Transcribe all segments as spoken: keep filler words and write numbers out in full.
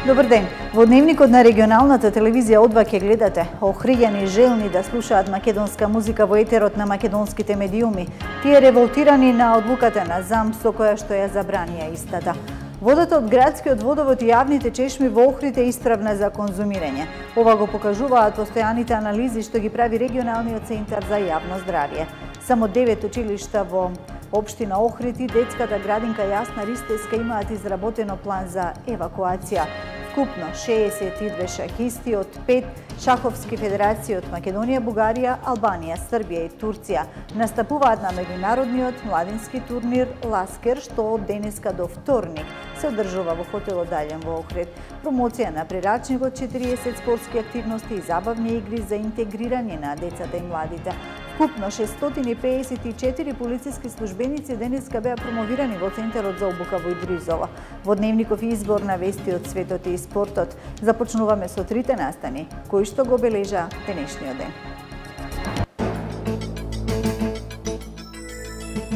Добар ден. Во дневникот на регионалната телевизија Одва ќе гледате охријани желни да слушаат македонска музика во етерот на македонските медиуми. Тие револтирани на одлуката на ЗАМП со која што ја забранија истата. Водата од градскиот водовод и јавните чешми во Охрид е исправна за конзумирање. Ова го покажуваат постојаните анализи што ги прави регионалниот центар за јавно здравје. Само девет училишта во општина Охрид и детската градинка Јасна Ристеска имаат изработено план за евакуација. Вкупно шеесет и две шахисти од пет шаховски федерации од Македонија, Бугарија, Албанија, Србија и Турција настапуваат на меѓународниот младински турнир Ласкер, што од денеска до вторник се одржува во хотелот Далјен во Охрид. Промоција на прирачникот, четириесет спортски активности и забавни игри за интегрирање на децата и младите. Вкупно шестстотини и пеесет и четири полициски службеници денеска беа промовирани во Центарот за обука во Идризово. Во дневников избор на вести од светот и спортот започнуваме со трите настани кои што го бележа денешниот ден.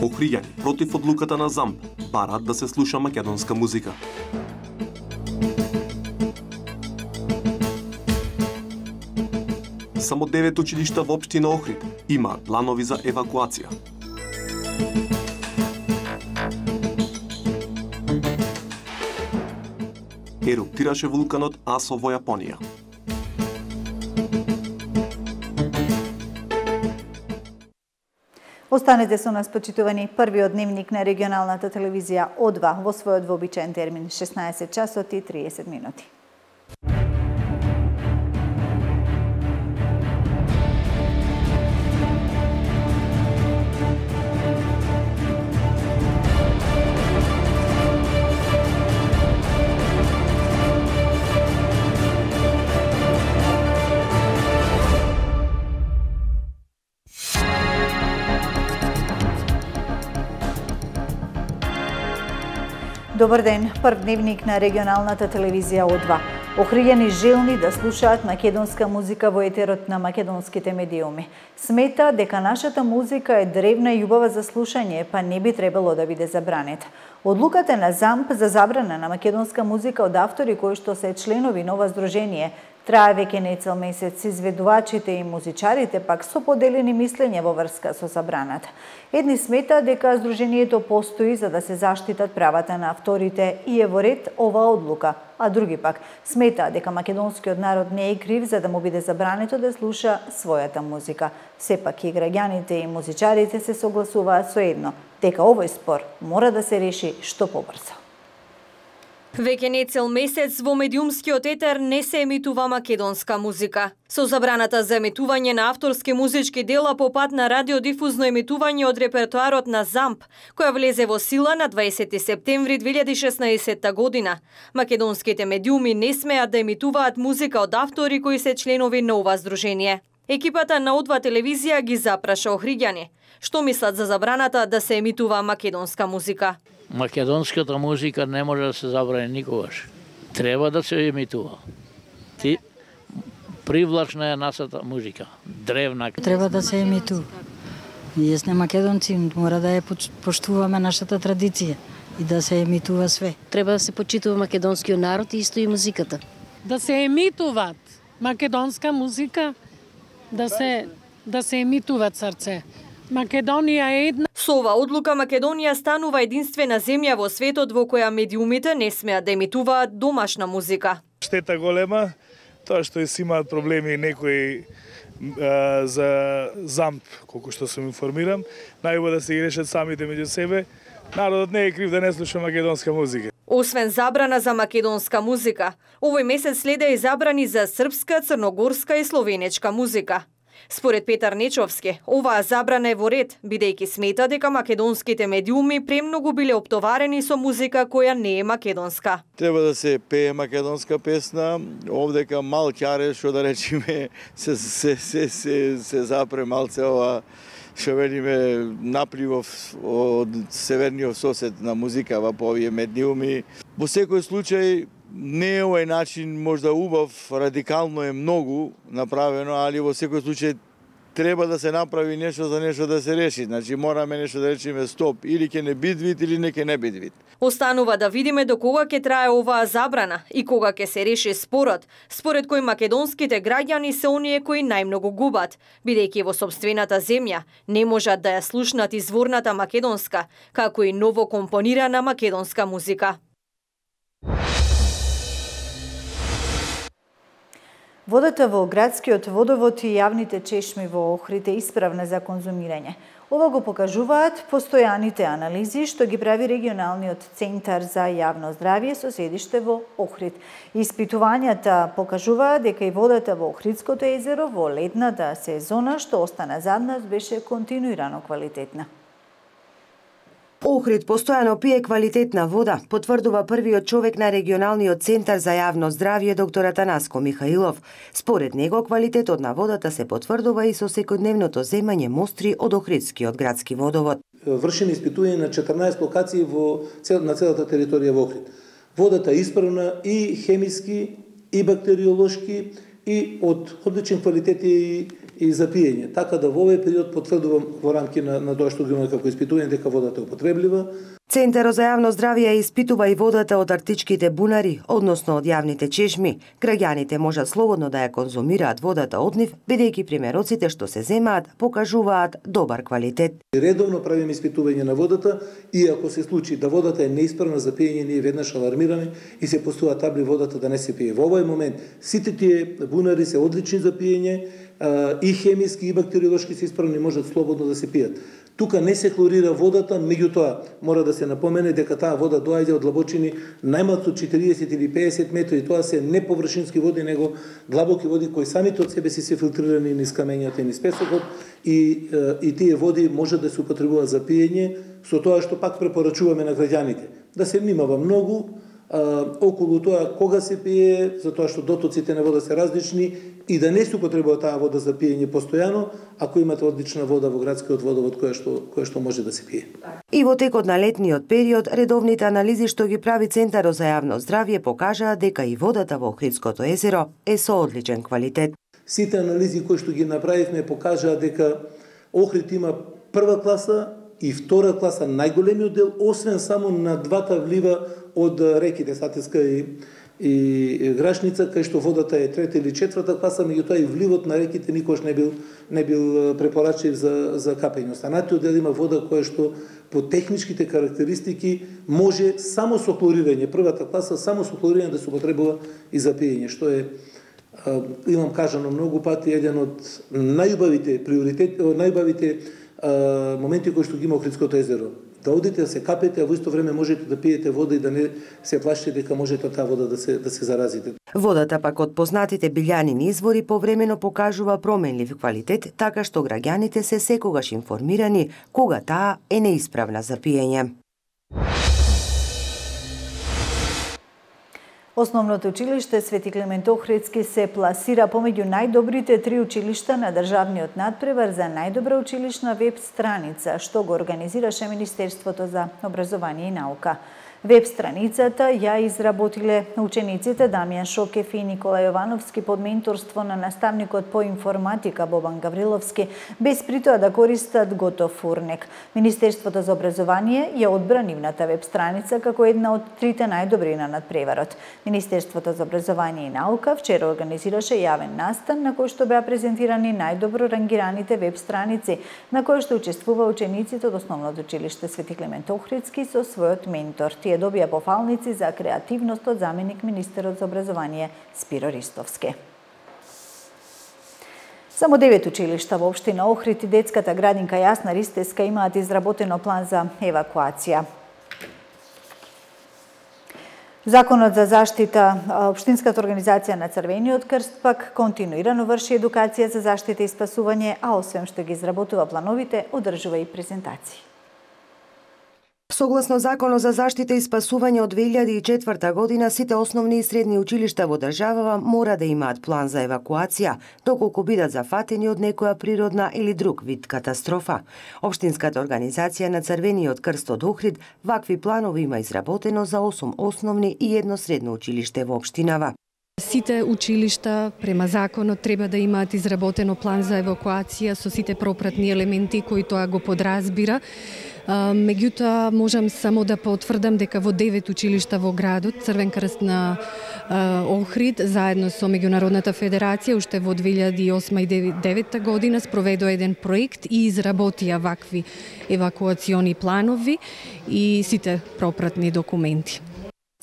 Охријани против одлуката на ЗАМП бараат да се слуша македонска музика. Само девет училишта во општина Охрид имаат планови за евакуација. Еруптираше вулканот Асо во Јапонија. Останете со нас, почитувани. Првиот дневник на регионалната телевизија Одва во својот вообичаен термин шеснаесет часот и триесет минути. Добар ден, прв дневник на регионалната телевизија Одва. Охријани желни да слушаат македонска музика во етерот на македонските медиуми. Смета дека нашата музика е древна и убава за слушање, па не би требало да биде забранета. Одлуката на ЗАМП за забрана на македонска музика од автори кои што се членови на ова здружение трае веќе не цел месец. Изведувачите и музичарите пак со поделени мислења во врска со забраната. Едни сметаат дека здружението постои за да се заштитат правата на авторите и е во ред оваа одлука, а други пак сметаат дека македонскиот народ не е крив за да му биде забрането да слуша својата музика. Сепак и граѓаните и музичарите се согласуваат со едно, дека овој спор мора да се реши што побрзо. Веќе не цел месец во медиумскиот етер не се емитува македонска музика. Со забраната за емитување на авторски музички дела по пат на радиодифузно емитување од репертоарот на ЗАМП, која влезе во сила на дваесети септември две илјади и шеснаесетта година, македонските медиуми не смеат да емитуваат музика од автори кои се членови на ова здружение. Екипата на Одва телевизија ги запраша охриѓани. Што мислат за забраната да се емитува македонска музика? Македонската музика не може да се забрани никогаш. Треба да се емитува. Ти привлачна е нашата музика, древна. Треба да се емитува. Ние сме македонци, мора да ја поштуваме нашата традиција и да се емитува све. Треба да се почитува македонскиот народ и исто и музиката. Да се емитуваат македонска музика, да се да се емитуваат срце. Македонија е една. Со ова одлука Македонија станува единствена земја во светот во која медиумите не смеат да емитуваат домашна музика. Штета голема, тоа што си имаат проблеми некои а, за ЗАМП, колку што сум информирам, најубаво да се ги решат самите меѓу себе. Народот не е крив да не слуша македонска музика. Освен забрана за македонска музика, овој месец следа и забрани за српска, црногорска и словенечка музика. Според Петар Нечовски, оваа забрана е во ред, бидејќи смета дека македонските медиуми премногу биле оптоварени со музика која не е македонска. Треба да се пее македонска песна, овдека мал ќаре, што да речеме, се, се, се, се, се запре малце ова, што велиме, напливов од северниот сосед на музика по овие медиуми. Во секој случај, не е овој начин можда убав, радикално е многу направено, али во секој случај треба да се направи нешто за нешто да се реши. Значи мораме нешто да речеме стоп, или ќе не биде вид или не ќе не биде вид. Останува да видиме до кога ќе трае оваа забрана и кога ќе се реши спорот, според кој македонските граѓани се оние кои најмногу губат, бидејќи во сопствената земја не можат да ја слушнат изворната македонска, како и ново компонирана македонска музика. Водата во градскиот водовод и јавните чешми во Охрид е исправна за конзумирање. Ова го покажуваат постојаните анализи што ги прави регионалниот центар за јавно здравје со седиште во Охрид. Испитувањата покажуваат дека и водата во Охридското езеро во летната сезона што остана зад нас беше континуирано квалитетна. Охрид постојано пие квалитетна вода, потврдува првиот човек на регионалниот центар за јавно здравје доктор Атанаско Михаилов. Според него квалитетот на водата се потврдува и со секојдневното земање мостри од Охридскиот градски водовод. Вршени испитување на четрнаесет локации во цел, на целата територија во Охрид. Водата е исправна и хемиски, и бактериолошки, и од одличен квалитет и и за пиење. Така да во овој период потврдувам во рамки на, на тоа што ги имаме како испитување дека водата е употреблива. Центарот за јавно здравје испитува и водата од арктичките бунари, односно од јавните чешми. Граѓаните можат слободно да ја конзумираат водата од нив, бидејќи примероците што се земаат покажуваат добар квалитет. Редовно правиме испитување на водата и ако се случи да водата е неисправна за пиење, ние веднаш алармираме и се постува табли водата да не се пие. Во овој момент сите тие бунари се одлични за пиење, и хемиски и бактериолошки се исправни, можат слободно да се пијат. Тука не се хлорира водата, меѓутоа мора да се напомене дека таа вода доаѓа од длабочини најмалку четириесет или пеесет метри, тоа се не површински води, него длабоки води кои самите од себе си се филтрирани низ камењата и низ песокот и, и тие води може да се употребуваат за пиење, со тоа што пак препорачуваме на граѓаните. Да се внимава многу а, околу тоа кога се пие, затоа што дотоците на вода се различни и да не се употребува таа вода за пиење постојано, ако имате одлична вода во градскиот водовод која што, која што може да се пие. И во текот на летниот период, редовните анализи што ги прави Центарот за јавно здравје покажаа дека и водата во Охридското езеро е со одличен квалитет. Сите анализи кои што ги направивме покажаа дека Охрид има прва класа и втора класа најголемиот дел, освен само на двата влива од реките Сатиска и и Грашница, кај што водата е трета или четврта класа, меѓутоа и вливот на реките никош не бил не бил препорачлив за за капење. Останатиот дел има вода која што по техничките карактеристики може само со хлорирање, првата класа само со хлорирање да се употребува и за пиење, што е имам кажано многу пати еден од најубавите приоритети, најубавите моменти кои што ги има Охридското езеро. Да одите да се капете, а во исто време можете да пиете вода и да не се плашите дека можете од таа вода да се да се заразите. Водата пак од познатите билјанини извори повремено покажува променлив квалитет, така што граѓаните се секогаш информирани кога таа е неисправна за пиење. Основното училиште Свети Климент Охридски се пласира помеѓу најдобрите три училишта на државниот надпревар за најдобра училишна веб страница, што го организираше Министерството за образование и наука. Веб страницата ја изработиле учениците Дамјан Шокев и Никола Јовановски под менторство на наставникот по информатика Бобан Гавриловски, без при тоа да користат готов урнек. Министерството за образование ја одбра нивната веб страница како една од трите најдобри на надпреварот. Министерството за образование и наука вчера организираше јавен настан на кој што беа презентирани најдобро рангираните веб страници, на кој што учествува учениците од Основното училиште Свети Климент Охридски со својот ментор. Тие добија пофалници за креативност од заменик министерот за образование Спиро Ристовски. Само девет училишта во општина Охрид и детската градинка Јасна Ристеска имаат изработено план за евакуација. Законот за заштита, Општинската организација на Црвениот крст пак континуирано врши едукација за заштита и спасување, а освен што ги изработува плановите, одржува и презентации. Согласно Законот за заштита и спасување од две илјади и четврта година, сите основни и средни училишта во државава мора да имаат план за евакуација, доколку бидат зафатени од некоја природна или друг вид катастрофа. Општинската организација на Црвениот крст од Охрид вакви планови има изработено за осум основни и едно средно училиште во општинава. Сите училишта према законот треба да имаат изработено план за евакуација со сите пропратни елементи кои тоа го подразбира. Меѓутоа, можам само да потврдам дека во девет училишта во градот Црвен крст на Охрид заедно со Меѓународната федерација уште во две илјади и осма и две илјади и девета година спроведува еден проект и изработија вакви евакуациони планови и сите пропратни документи.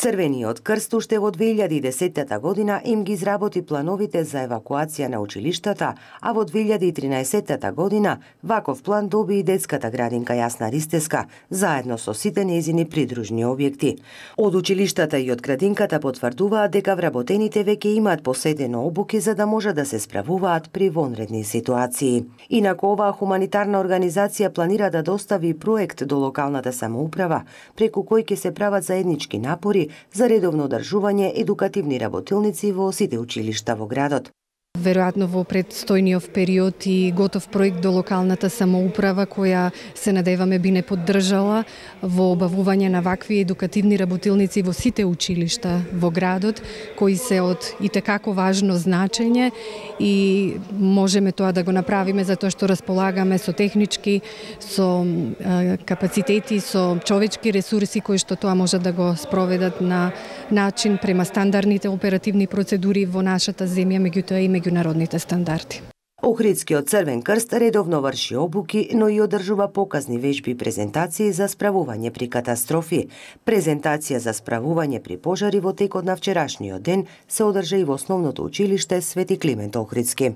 Црвениот крст уште во две илјади и десетта година им ги изработи плановите за евакуација на училиштата, а во две илјади и тринаесетта година ваков план доби и детската градинка Јасна Ристеска, заедно со сите нејзини придружни објекти. Од училиштата и од градинката потврдуваат дека вработените веќе имаат поседено обуки за да може да се справуваат при вонредни ситуации. Инаку оваа хуманитарна организација планира да достави проект до локалната самоуправа, преку кој ќе се прават заеднички напори за редовно одржување едукативни работилници во сите училишта во градот. Веројатно во предстојниот период и готов проект до локалната самоуправа која се надеваме би не поддржала во обавување на вакви едукативни работилници во сите училишта во градот, кои се од итекако важно значење и можеме тоа да го направиме затоа што располагаме со технички, со е, капацитети, со човечки ресурси кои што тоа може да го спроведат на начин према стандардните оперативни процедури во нашата земја, меѓутоа и меѓународните стандарди. Охридскиот Црвен крст редовно врши обуки, но и одржува показни вежби и презентации за справување при катастрофи. Презентација за справување при пожари во текот на вчерашниот ден се одржа и во основното училиште Свети Климент Охридски.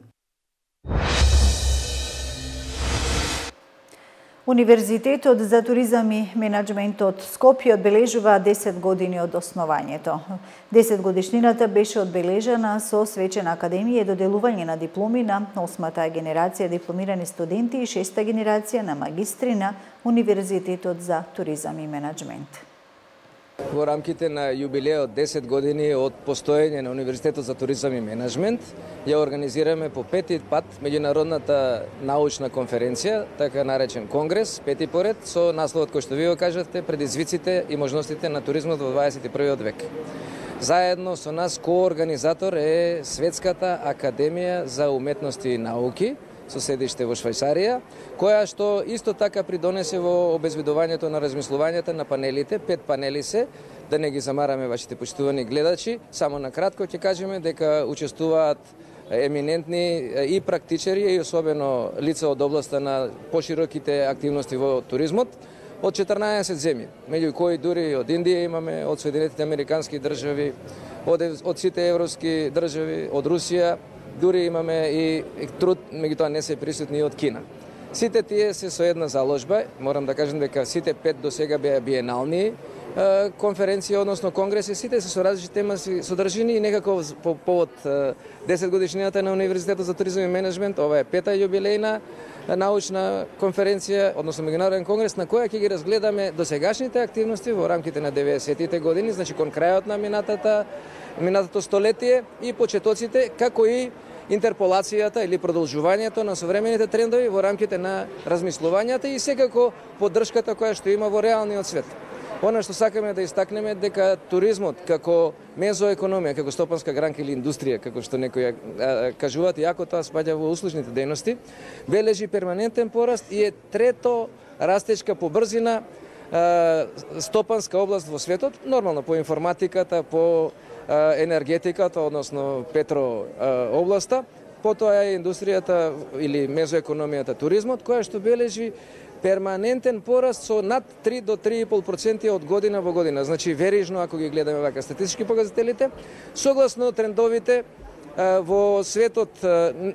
Универзитетот за туризам и менаџмент од Скопје одбележува десет години од основањето. десет годишнината беше одбележана со свечена академија и доделување на дипломи на осмата генерација дипломирани студенти и шеста генерација на магистри на Универзитетот за туризам и менаџмент. Во рамките на јубилеот десет години од постоење на Универзитетот за туризам и менаџмент, ја организираме по пети пат меѓународната научна конференција, така наречен конгрес, пети поред, со насловот кој што ви го кажавте, предизвиците и можностите на туризмот во дваесет и првиот век. Заедно со нас коорганизатор е Светската академија за уметности и науки, со седиште во Швајцарија, која што исто така придонесе во обезбедувањето на размислувањата на панелите. Пет панели се, да не ги замараме вашите почитувани гледачи. Само на кратко ќе кажеме дека учествуваат еминентни и практичари и особено лица од областа на пошироките активности во туризмот од четрнаесет земји, меѓу кои дури од Индија имаме, од Соединетите американски држави, од, од сите европски држави, од Русија, дури имаме и труд, меѓутоа не се присутни од Кина. Сите тие се со една заложба, морам да кажам дека сите пет до сега беа биенални конференции, односно конгреси, сите се со различни тематски содржини и некако по повод десет годишнината на Универзитетот за туризам и менаџмент, ова е пета јубилејна научна конференција, односно меѓународен конгрес, на која ќе ги разгледаме досегашните активности во рамките на деветдесетите години, значи кон крајот на минатата минатото столетие и почетоците, како и интерполацијата или продолжувањето на современите трендови во рамките на размислувањата и секако поддршката која што има во реалниот свет. Она што сакаме да истакнеме дека туризмот како мезоекономија, како стопанска гранка или индустрија, како што некои кажуваат, иако тоа спаѓа во услужните дејности, бележи перманентен пораст и е трето растечка по брзина стопанска област во светот, нормално по информатиката, по енергетиката, односно петро областа, потоа е индустријата или мезоекономијата туризмот, која што бележи перманентен пораст со над три до три и пол проценти од година во година. Значи верижно, ако ги гледаме вака статистички показателите, согласно трендовите во светот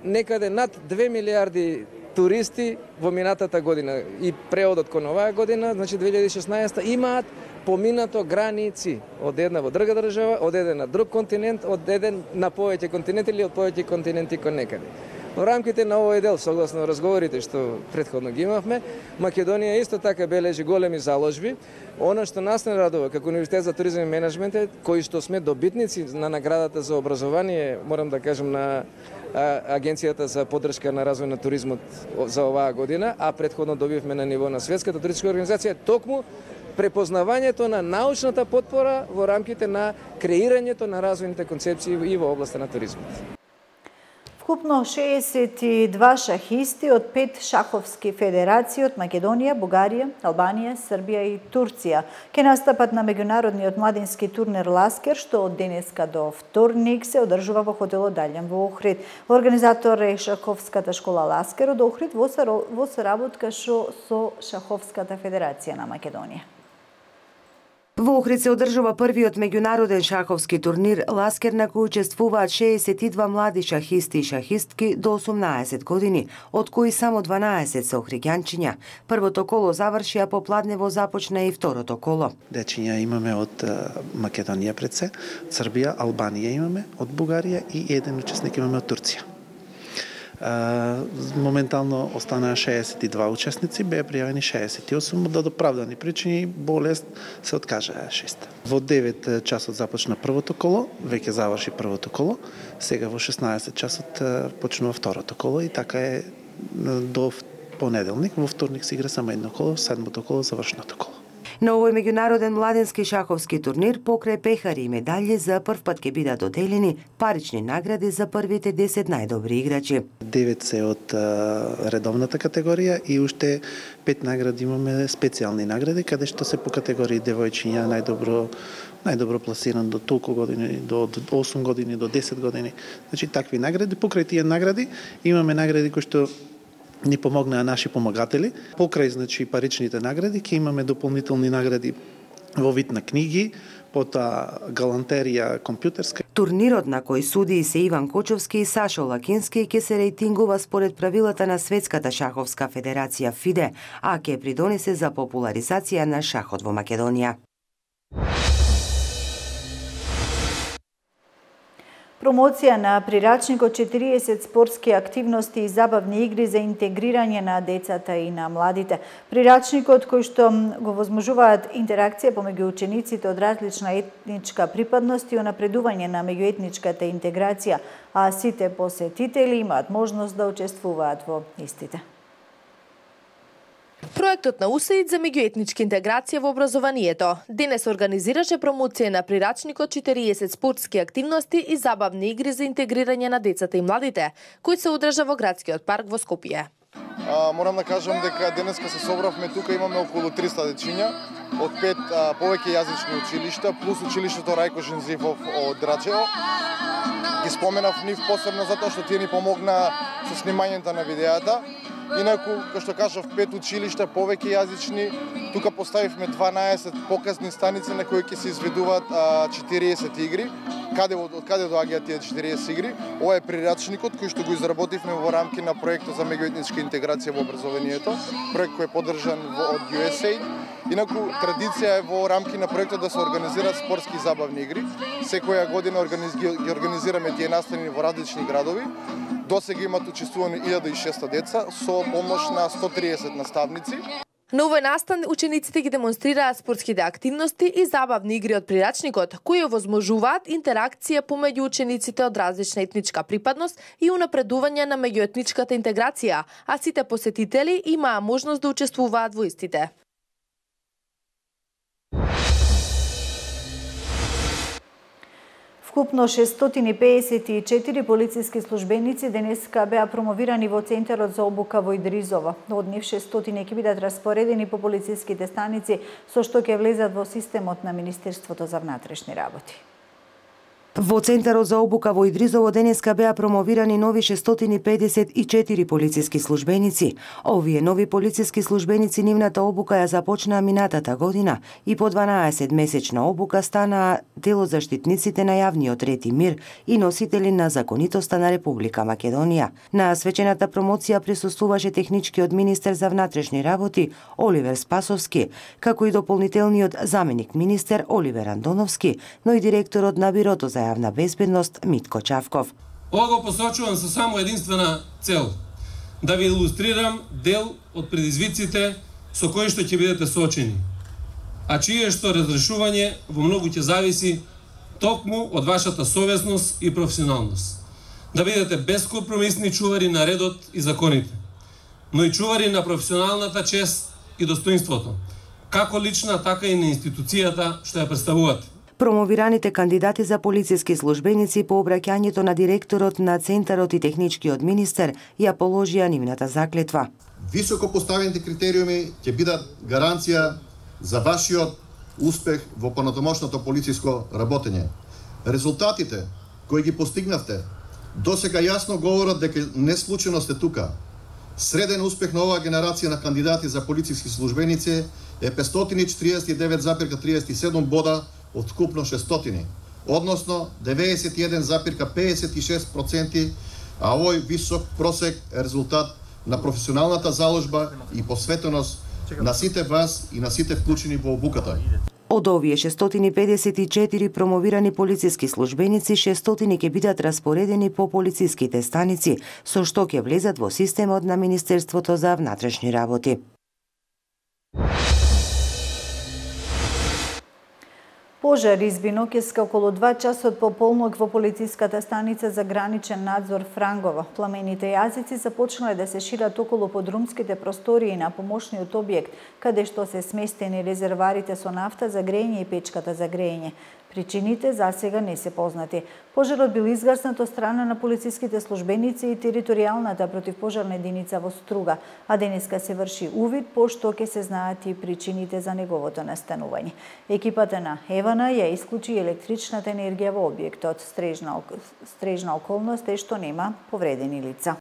некаде над две милиарди туристи во минатата година и преодот кон оваа година, значи две илјади и шеснаесета, имаат поминато граници од една во друга држава, од еден на друг континент, од еден на повеќе континенти или од повеќе континенти кон некаде. Во рамките на овој дел, согласно разговорите што претходно ги имавме, Македонија исто така бележи големи заложби. Она што нас не радува како Универзитет за туризам и менаџмент, кои што сме добитници на наградата за образование, морам да кажам на Агенцијата за поддршка на развој на туризмот за оваа година, а претходно добивме на ниво на Светската туристичка организација, токму препознавањето на научната потпора во рамките на креирањето на развојните концепции и во областа на туризмот. Вкупно шеесет и два шахисти од пет шаховски федерации од Македонија, Бугарија, Албанија, Србија и Турција ќе настапат на меѓународниот младински турнир Ласкер, што од денеска до вторник се одржува во хотелот Далјан во Охрид. Организатор е Шаховската школа Ласкер од Охрид во соработка со Шаховската федерација на Македонија. Во Охрид се одржува првиот меѓународен шаховски турнир Ласкер, на кој учествуваат шеесет и два млади шахисти и шахистки до осумнаесет години, од кои само дванаесет се охриѓанчиња. Првото коло заврши, а попладнево започна и второто коло. Дечиња имаме од Македонија пред се, Србија, Албанија имаме, од Бугарија и еден учесник имаме од Турција. Моментално останаа шеесет и два учесници, беа пријавени шеесет и осум, од оправдани причини, болест се откажаа шест. Во девет часот започна првото коло, веќе заврши првото коло, сега во шеснаесет часот почнува второто коло и така е до понеделник, во вторник се игра само едно коло, седмото коло, завршното коло. На овој меѓународен младенски шаховски турнир покрај пехари и медали за прв пат ќе бидат доделени парични награди за првите десет најдобри играчи. девет се од редовната категорија и уште пет награди имаме специјални награди, каде што се по категории девојчиња најдобро најдобро пласиран до толку години, до осум години, до десет години. Значи такви награди, покрај тие награди имаме награди кои што ни помогнаа наши помагатели. Покрај значи паричните награди ќе имаме дополнителни награди во вид на книги, потоа галантерија компјутерска. Турнирот на кој суди се Иван Кочовски и Сашо Лакински ќе се рейтингува според правилата на Светската шаховска федерација ФИДЕ, а ќе придонесе за популаризација на шахот во Македонија. Промоција на прирачникот четириесет спортски активности и забавни игри за интегрирање на децата и на младите. Прирачникот кој што го возможуваат интеракција помеѓу учениците од различна етничка припадност и унапредување на меѓуетничката интеграција, а сите посетители имаат можност да учествуваат во истите. Проектот на УСАИД за меѓуетничка интеграција во образованието денес организираше промоција на прирачникот четириесет спортски активности и забавни игри за интегрирање на децата и младите, кој се одржа во градскиот парк во Скопје. А, морам да кажам дека денеска се собравме тука, имаме околу триста дечиња од пет а, повеќе јазични училишта плюс училиштето Рајко Жензивов од Драчево. Ги споменав нив посебно затоа што тие ни помогнаа со снимањето на видеата. Инаку, како што кажав, пет училишта повеќе јазични, тука поставивме дванаесет показни станици на кои ќе се изведуваат а, четириесет игри. Каде од каде доаѓаат тие четириесет игри? Ова е прирачникот кој што го изработивме во рамки на проектот за меѓуетничка интеграција во образованието, проект кој е поддржан од ю ес ей. Инаку традиција е во рамки на проектот да се организираат спортски и забавни игри. Секоја година организ... ги организираме тие настани во различни градови. Досега имат учествувани илјада и шеста деца со помош на сто триесет наставници. На овој настан учениците ги демонстрираат спортските активности и забавни игри од прирачникот, кои овозможуваат интеракција помеѓу учениците од различна етничка припадност и унапредување на меѓуетничката интеграција, а сите посетители имаа можност да учествуваат во истите. Вкупно шестстотини и пеесет и четири полициски службеници денеска беа промовирани во Центарот за обука во Идризово. Од нив шестстотини ќе бидат распоредени по полициските станици, со што ќе влезат во системот на Министерството за внатрешни работи. Во Центарот за обука во Идризово денеска беа промовирани нови шестстотини и педесет и четири полициски службеници. Овие нови полициски службеници нивната обука ја започнаа минатата година и по дванаесет месечна обука станаа дел од заштитниците на јавниот ред и мир и носители на законитоста на Република Македонија. На свечената промоција присуствуваше техничкиот министер за внатрешни работи Оливер Спасовски, како и дополнителниот заменик министер Оливер Андоновски, но и директорот на Бирото за јавна безбедност Митко Чавков. Ова го посочувам со само единствена цел, да ви илустрирам дел од предизвиците со кои што ќе бидете соочени, а чие што разрешување во многу ќе зависи токму од вашата совесност и професионалност. Да бидете безкомпромисни чувари на редот и законите, но и чувари на професионалната чест и достоинството, како лична, така и на институцијата што ја представуваат. Промовираните кандидати за полициски службеници по обраќањето на директорот на Центарот и техничкиот министер ја положија нивната заклетва. Високо поставените критериуми ќе бидат гаранција за вашиот успех во понатомошното полициско работење. Резултатите кои ги постигнавте досега јасно говорат дека не случајно сте тука. Среден успех на оваа генерација на кандидати за полициски службеници е петстотини и четириесет и девет запирка триесет и седум бода од вкупно шестстотини, односно деветдесет и еден запирка педесет и шест проценти, а овој висок просек е резултат на професионалната заложба и посветеност на сите вас и на сите вклучени во обуката. Од овие шестстотини педесет и четири промовирани полициски службеници, шестстотини ќе бидат распоредени по полициските станици, со што ќе влезат во системот на Министерството за внатрешни работи. Пожар изби ноќеска околу два часот по полнок во полициската станица за граничен надзор Франгово. Пламените јазици започнале да се шират околу подрумските простории на помошниот објект, каде што се сместени резерварите со нафта за грејење и печката за грејење. Причините засега не се познати. Пожарот бил изгаснат од страна на полициските службеници и територијалната противпожарна единица во Струга, а денеска се врши увид пошто ќе се знаат и причините за неговото настанување. Екипата на Евана ја исклучи електричната енергија во објектот. Стрежна, стрежна околност е што нема повредени лица.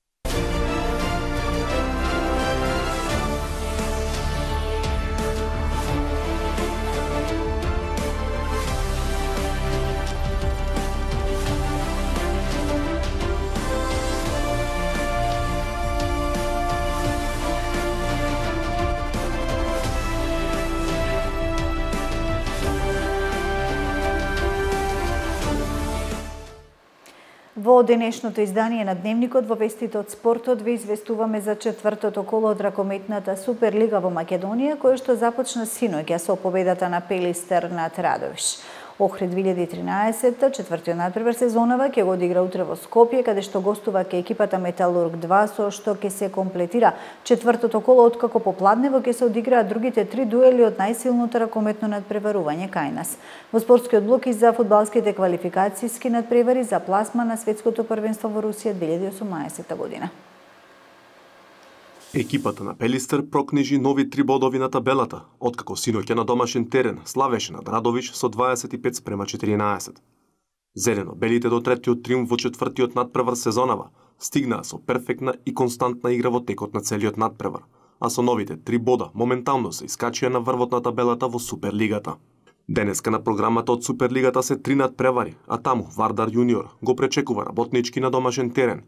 Во денешното издание на Дневникот во вестите од спортот ве известуваме за четвртото коло од ракометната Суперлига во Македонија, кој што започна синоќа со победата на Пелистер над Радовиш. Охрид две илјади и тринаесетта, четвртиот надпревар сезонава, ќе го одигра утре во Скопје, каде што гостува ке екипата Металург два, со што ќе се комплетира четвртото коло, откако попладнево ќе се одиграат другите три дуели од најсилното ракометно надпреварување кај нас. Во спортскиот блок и за фудбалските квалификацијски надпревари за пласма на светското првенство во Русија две илјади и осумнаесетта година. Екипата на Пелистер прокнижи нови три бодови на табелата, откако синоќа на домашен терен славеше над Радовиш со дваесет и пет спрема четиринаесет. Зелено-белите до третиот триумф во четвртиот надпревар сезонава стигнаа со перфектна и константна игра во текот на целиот надпревар, а со новите три бода моментално се искачија на врвот на табелата во Суперлигата. Денеска на програмата од Суперлигата се три надпревари, а таму Вардар Јуниор го пречекува работнички на домашен терен.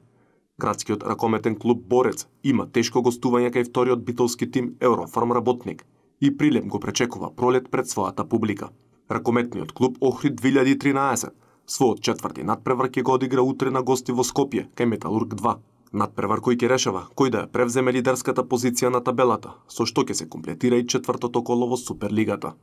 Градскиот ракометен клуб Борец има тешко гостување кај вториот битолски тим Еврофарм Работник и Прилеп го пречекува пролет пред својата публика. Ракометниот клуб Охрид две илјади и тринаесет својот четврти надпревар ќе го одигра утре на гости во Скопје кај Металург два. Надпревар кој ќе решава кој да ја превземе лидерската позиција на табелата, со што ќе се комплетира и четвртото коло во Суперлигата.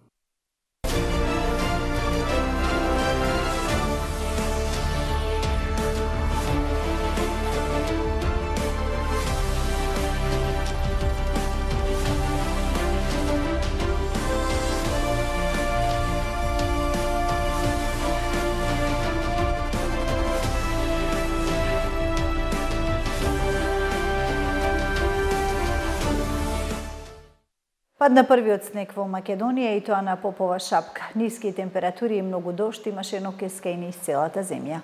Падна првиот снег во Македонија и тоа на Попова шапка. Ниски температури и многу дожд имаше ноќеска и низ целата земја.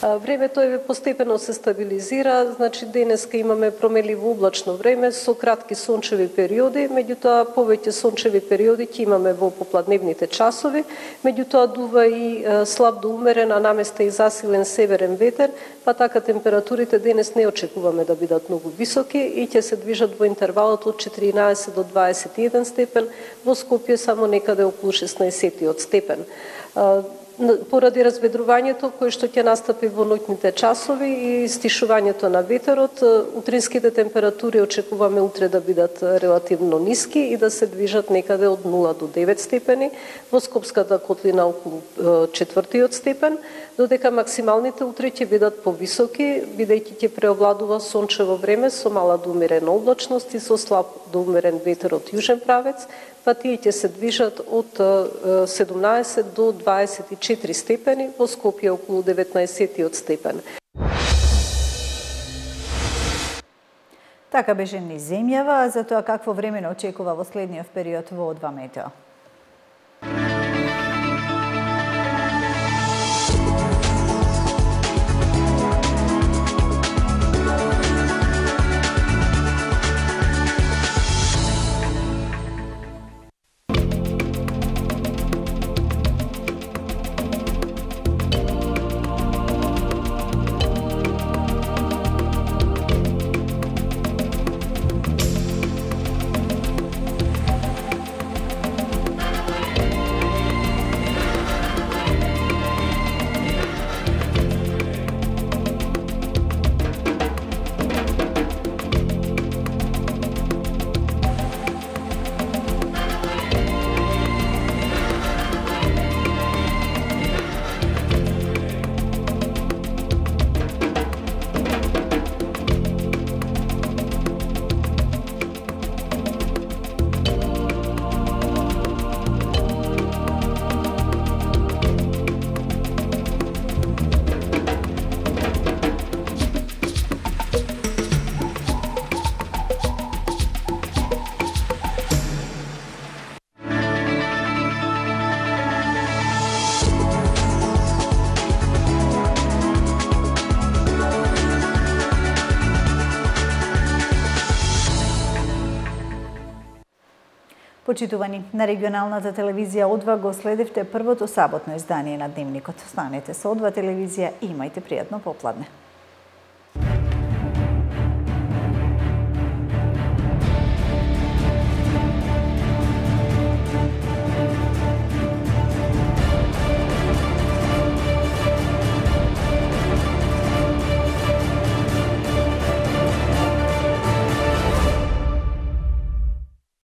Времето е постепено се стабилизира, значи денеска имаме промеливо облачно време со кратки сончеви периоди, меѓутоа повеќе сончеви периоди ќе имаме во попладневните часови, меѓутоа дува и слаб до умерен, а наместа и засилен северен ветер, па така температурите денес не очекуваме да бидат многу високи и ќе се движат во интервалот од четиринаесет до дваесет и еден степен, во Скопје само некаде околу шеснаесет степен. поради разведрувањето кое што ќе настапи во ноќните часови и стишувањето на ветерот, утринските температури очекуваме утре да бидат релативно ниски и да се движат некаде од нула до девет степени, во Скопската котлина околу четвртиот степен, додека максималните утре ќе бидат повисоки, бидејќи ќе преовладува сончево време со мала до умерена облачност и со слаб до умерен ветер од јужен правец, па тие ќе се движат од седумнаесет до дваесет и четири степени, во Скопје околу деветнаесет степен. Така беше низ земјава, за тоа какво време не очекува во следниот период во О два Метео. Почитувани, на регионалната телевизија О два го следевте првото саботно издание на Дневникот. Останете со О два телевизија и имајте пријатно попладне.